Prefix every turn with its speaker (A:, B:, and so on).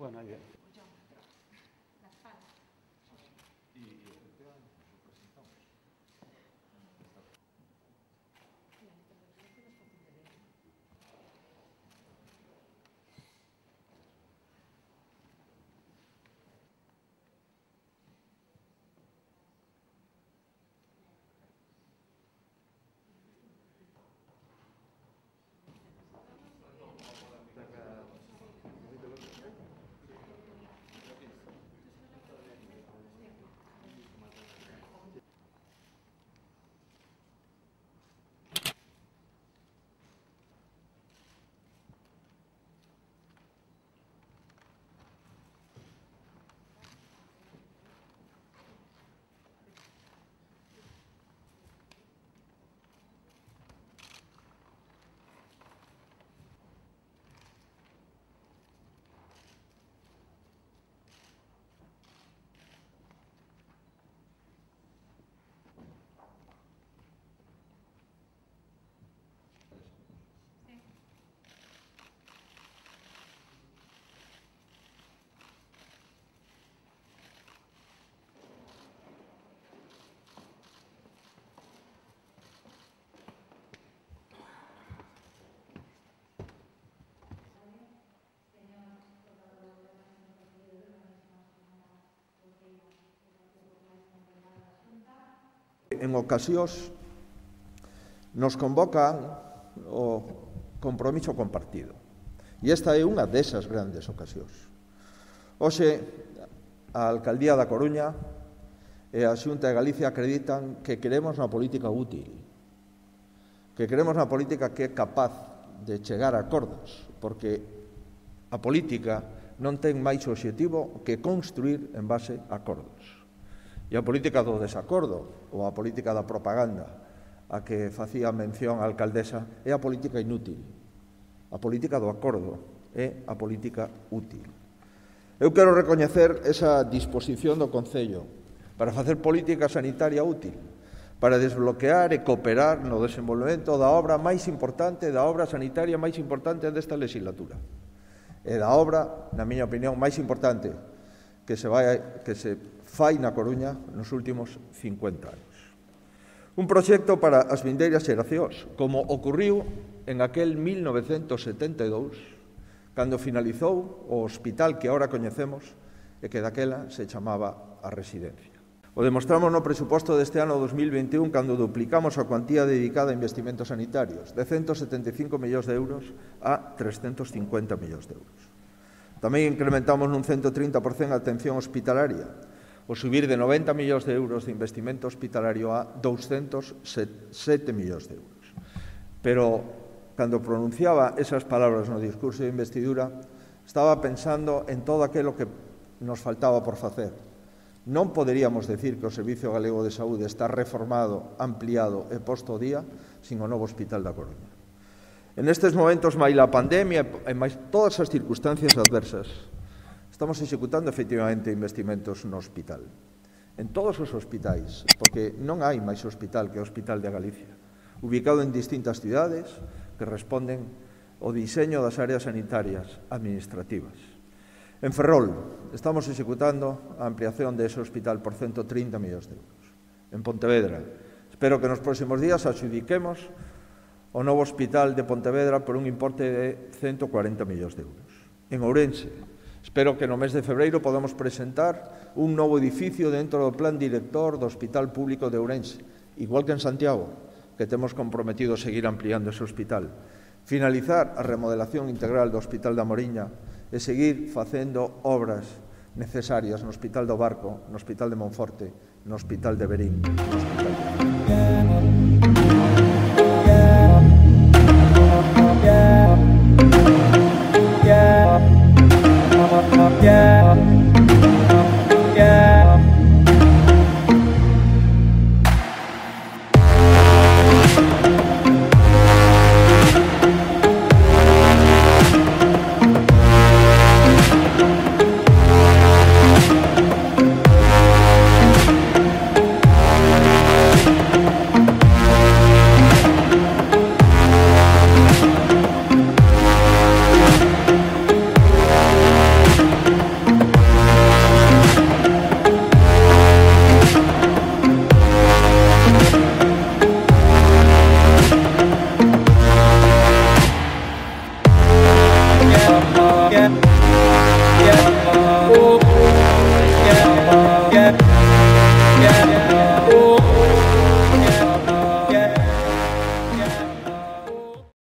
A: Bueno, ahí bien.
B: En ocasións nos convocan o compromiso compartido. E esta é unha desas grandes ocasións. Hoxe, a Alcaldía da Coruña e a Xunta de Galicia acreditan que queremos unha política útil, que queremos unha política que é capaz de chegar a acordos, porque a política non ten máis obxectivo que construir en base a acordos. E a política do desacordo, ou a política da propaganda, a que facía mención a alcaldesa, é a política inútil. A política do acordo é a política útil. Eu quero recoñecer esa disposición do Concello para facer política sanitaria útil, para desbloquear e cooperar no desenvolvemento da obra máis importante, da obra sanitaria máis importante desta legislatura. E da obra, na miña opinión, máis importante que se fai na Coruña nos últimos 50 anos. Un proxecto para as vindeiras xeracións, como ocurriu en aquel 1972, cando finalizou o hospital que agora coñecemos e que daquela se chamaba a Residencia. O demostramos no presuposto deste ano 2021 cando duplicamos a cuantía dedicada a investimentos sanitarios, de 175 millóns de euros a 350 millóns de euros. Tamén incrementamos nun 130% a atención hospitalaria, o subir de 90 millóns de euros de investimento hospitalario a 207 millóns de euros. Pero, cando pronunciaba esas palabras no discurso de investidura, estaba pensando en todo aquilo que nos faltaba por facer. Non poderíamos decir que o Servicio Galego de Saúde está reformado, ampliado e posto ao día sin o novo Hospital da Coruña. En estes momentos, máis a pandemia e máis todas as circunstancias adversas, estamos executando efectivamente investimentos no hospital. En todos os hospitais, porque non hai máis hospital que o Hospital de Galicia, ubicado en distintas cidades que responden ao diseño das áreas sanitarias administrativas. En Ferrol, estamos executando a ampliación dese hospital por 130 millóns de euros. En Pontevedra, espero que nos próximos días adxudiquemos o novo hospital de Pontevedra por un importe de 140 millóns de euros. En Ourense, espero que no mes de febreiro podamos presentar un novo edificio dentro do plan director do Hospital Público de Ourense, igual que en Santiago, que temos comprometido seguir ampliando ese hospital. Finalizar a remodelación integral do Hospital da Moriña e seguir facendo obras necesarias no Hospital do Barco, no Hospital de Monforte, no Hospital de Verín, no Hospital de...